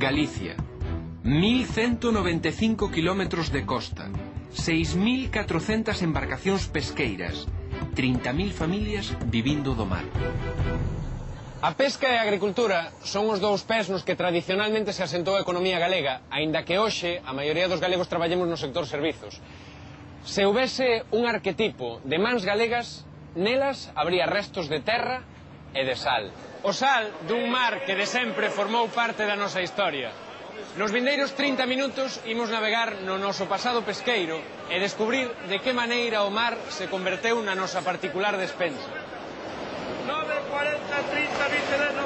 Galicia. 1195 kilómetros de costa, 6400 embarcacións pesqueiras, 30.000 familias vivindo do mar. A pesca e a agricultura son os dous pés nos que tradicionalmente se asentou a economía galega, aínda que hoxe a maioría dos galegos traballemos no sector servizos. Se houbese un arquetipo de mans galegas, nelas habría restos de terra e de sal. O sal dun mar que de sempre formou parte da nosa historia. Nos vindeiros 30 minutos imos navegar no noso pasado pesqueiro e descubrir de que maneira o mar se converteu na nosa particular despensa. 940 30 29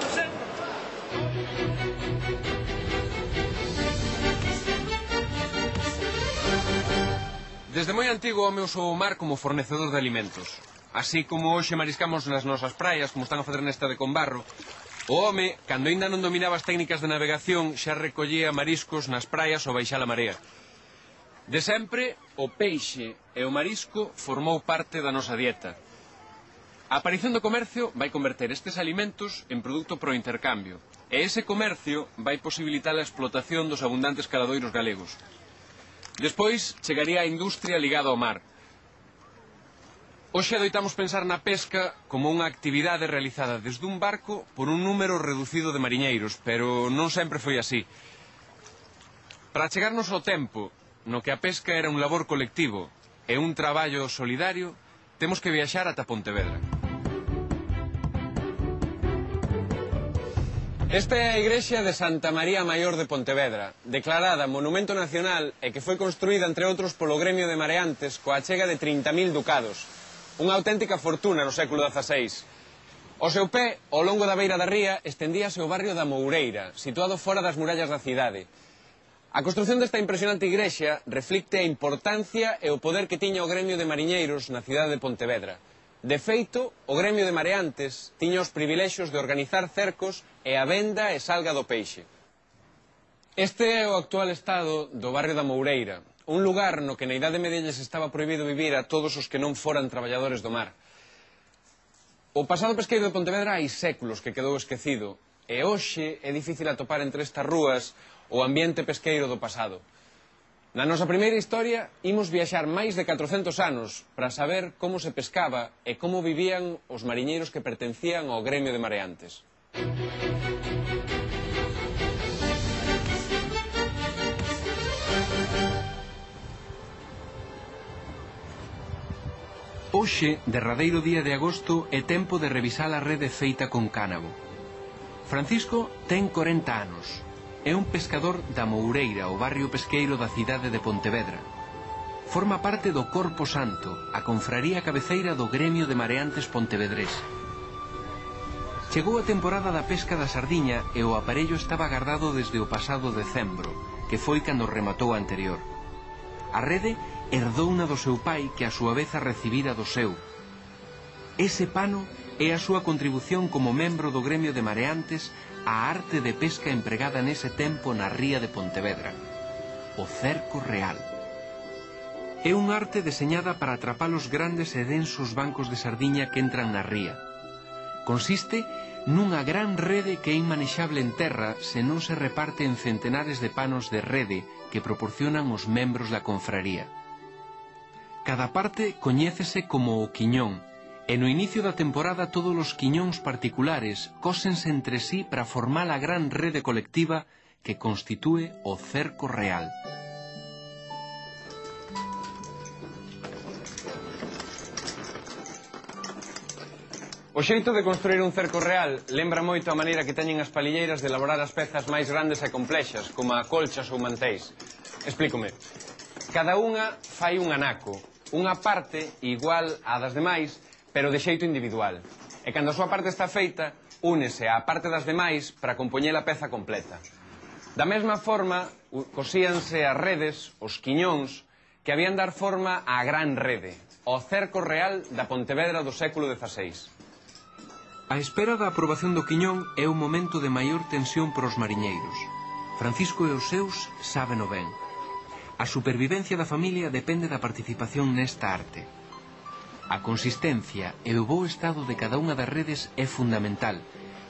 900. Desde moi antigo o home usou o mar como fornecedor de alimentos. Así como hoxe mariscamos nas nosas praias, como están a fazer nesta de Combarro, o home, cando ainda non dominaba as técnicas de navegación, xa recollía mariscos nas praias ao baixar a marea. De sempre, o peixe e o marisco formou parte da nosa dieta. A aparición do comercio vai converter estes alimentos en produto pro intercambio, e ese comercio vai posibilitar a explotación dos abundantes caladoiros galegos. Despois chegaría a industria ligada ao mar. Hoxe adoitamos pensar na pesca como unha actividade realizada desde un barco por un número reducido de mariñeiros, pero non sempre foi así. Para chegarnos ao tempo no que a pesca era un labor colectivo e un traballo solidario, temos que viaxar ata Pontevedra. Esta é a igrexa de Santa María Maior de Pontevedra, declarada Monumento Nacional e que foi construída, entre outros, polo gremio de mareantes coa achega de 30.000 ducados. Unha auténtica fortuna no século XVI. Ao seu pé, ao longo da beira da ría, estendíase o barrio da Moureira, situado fora das murallas da cidade. A construción desta impresionante igrexa reflicte a importancia e o poder que tiña o gremio de mariñeiros na cidade de Pontevedra. De feito, o gremio de mareantes tiña os privilexios de organizar cercos e a venda e salga do peixe. Este é o actual estado do barrio da Moureira, un lugar no que na Idade Media lles estaba prohibido vivir a todos os que non foran traballadores do mar. O pasado pesqueiro de Pontevedra hai séculos que quedou esquecido, e hoxe é difícil atopar entre estas rúas o ambiente pesqueiro do pasado. Na nosa primeira historia, imos viaxar máis de 400 anos para saber como se pescaba e como vivían os mariñeiros que pertencían ao gremio de mareantes. Hoxe, derradeiro día de agosto, é tempo de revisar a rede feita con cánabo. Francisco ten 40 anos. É un pescador da Moureira, o barrio pesqueiro da cidade de Pontevedra. Forma parte do Corpo Santo, a confraría cabeceira do gremio de mareantes pontevedrés. Chegou a temporada da pesca da sardiña e o aparello estaba guardado desde o pasado decembro, que foi cando rematou a anterior. A rede herdouna do seu pai, que a súa vez a recibira do seu. Ese pano é a súa contribución como membro do gremio de mareantes á arte de pesca empregada nese tempo na ría de Pontevedra, o cerco real. É unha arte deseñada para atrapar os grandes e densos bancos de sardiña que entran na ría. Consiste nunha gran rede que é inmanexable en terra se non se reparte en centenares de panos de rede que proporcionan os membros da confraría. Cada parte coñécese como o quiñón, e no inicio da temporada todos os quiñóns particulares cósense entre sí para formar a gran rede colectiva que constitúe o cerco real. O xeito de construir un cerco real lembra moito a maneira que teñen as palilleiras de elaborar as pezas máis grandes e complexas, como a colchas ou mantéis. Explícome. Cada unha fai un anaco, unha parte igual á das demais, pero de xeito individual. E cando a súa parte está feita, únese á parte das demais para compoñer a peza completa. Da mesma forma, cosíanse as redes, os quiñóns, que habían dar forma á gran rede, ao cerco real da Pontevedra do século XVI. A espera da aprobación do quiñón é o momento de maior tensión para os mariñeiros. Francisco e os seus sábeno ben. A supervivencia da familia depende da participación nesta arte. A consistencia e o bo estado de cada unha das redes é fundamental,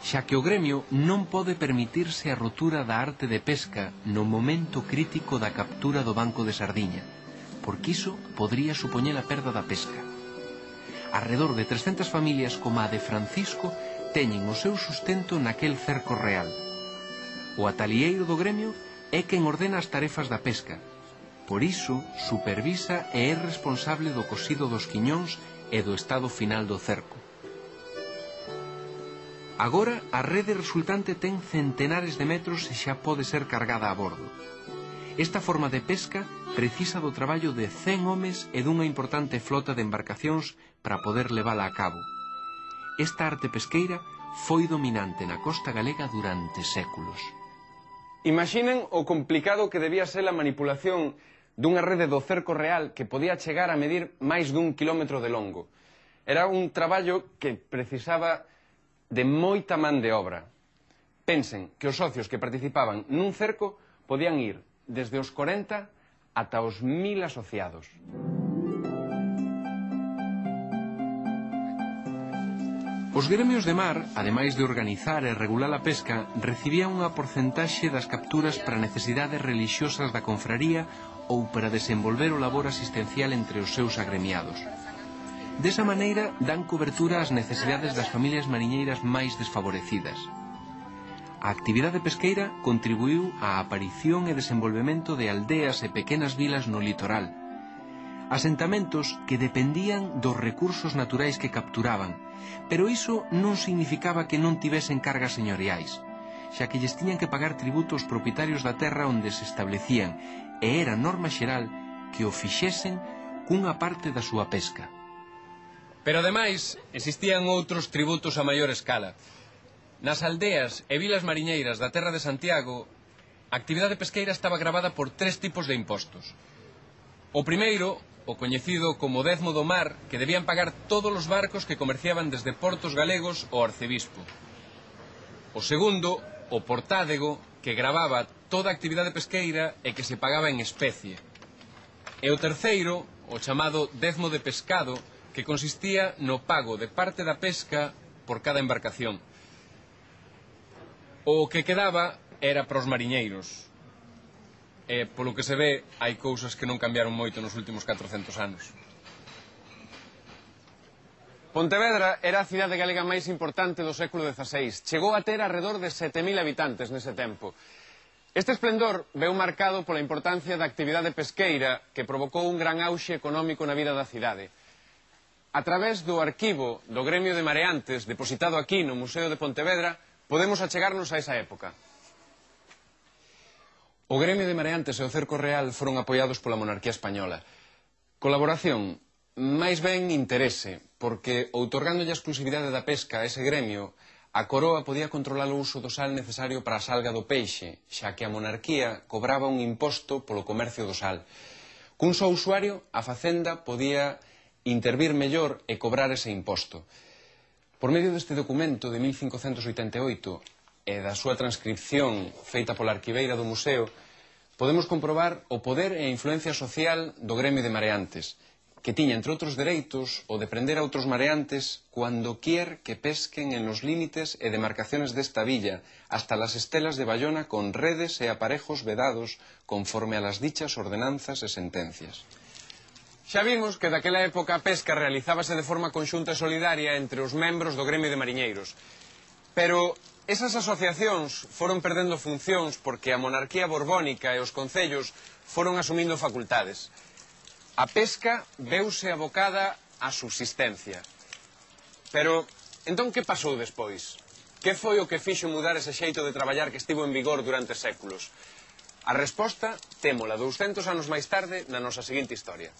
xa que o gremio non pode permitirse a rotura da arte de pesca no momento crítico da captura do banco de sardiña, porque iso podría supoñer a perda da pesca. Arredor de 300 familias como a de Francisco teñen o seu sustento naquel cerco real. O atalieiro do gremio é quen ordena as tarefas da pesca. Por iso, supervisa e é responsable do cosido dos quiñóns e do estado final do cerco. Agora, a rede resultante ten centenares de metros e xa pode ser cargada a bordo. Esta forma de pesca precisa do traballo de 100 homes e dunha importante flota de embarcacións para poder levala a cabo. Esta arte pesqueira foi dominante na costa galega durante séculos. Imaginen o complicado que debía ser a manipulación dunha rede do cerco real que podía chegar a medir máis dun kilómetro de longo. Era un traballo que precisaba de moita man de obra. Pensen que os socios que participaban nun cerco podían ir desde os 40 ata os 1000 asociados. Os gremios de mar, ademais de organizar e regular a pesca, recibían unha porcentaxe das capturas para necesidades religiosas da confraría ou para desenvolver o labor asistencial entre os seus agremiados. Desa maneira, dan cobertura ás necesidades das familias mariñeiras máis desfavorecidas. A actividade pesqueira contribuiu á aparición e desenvolvemento de aldeas e pequenas vilas no litoral, asentamentos que dependían dos recursos naturais que capturaban, pero iso non significaba que non tivesen cargas señoriais, xa que lles tiñan que pagar tributo aos propietarios da terra onde se establecían, e era norma xeral que o fixesen cunha parte da súa pesca. Pero ademais, existían outros tributos a maior escala. Nas aldeas e vilas mariñeiras da terra de Santiago, a actividade pesqueira estaba gravada por 3 tipos de impostos. O primeiro, o coñecido como dezmo do mar, que debían pagar todos os barcos que comerciaban desde portos galegos ao arcebispo. O segundo, o portádego, que gravaba toda a actividade pesqueira e que se pagaba en especie. E o terceiro, o chamado dezmo de pescado, que consistía no pago de parte da pesca por cada embarcación. O que quedaba era para os mariñeiros. E, polo que se ve, hai cousas que non cambiaron moito nos últimos 400 anos. Pontevedra era a cidade galega máis importante do século XVI. Chegou a ter alrededor de 7.000 habitantes nese tempo. Este esplendor veu marcado pola importancia da actividade pesqueira que provocou un gran auxe económico na vida da cidade. A través do arquivo do Gremio de Mareantes, depositado aquí no Museo de Pontevedra, podemos achegarnos a esa época. O Gremio de Mareantes e o Cerco Real foron apoiados pola monarquía española. Colaboración, máis ben interese, porque outorgándolle a exclusividade da pesca a ese gremio, a coroa podía controlar o uso do sal necesario para a salga do peixe, xa que a monarquía cobraba un imposto polo comercio do sal. Cun só usuario, a facenda podía intervir mellor e cobrar ese imposto. Por medio deste documento de 1588 e da súa transcripción feita pola arquiveira do museo, podemos comprobar o poder e a influencia social do Gremio de Mareantes, que tiña, entre outros dereitos, o de prender a outros mareantes cuando quier que pesquen en los límites e demarcaciones desta villa, hasta las estelas de Bayona con redes e aparejos vedados conforme a las dichas ordenanzas e sentencias. Xa vimos que daquela época a pesca realizábase de forma conxunta e solidaria entre os membros do Gremio de Mariñeiros. Pero esas asociacións foron perdendo funcións porque a monarquía borbónica e os concellos foron asumindo facultades. A pesca veuse abocada á subsistencia. Pero, entón, que pasou despois? Que foi o que fixo mudar ese xeito de traballar que estivo en vigor durante séculos? A resposta témola 200 anos máis tarde na nosa seguinte historia.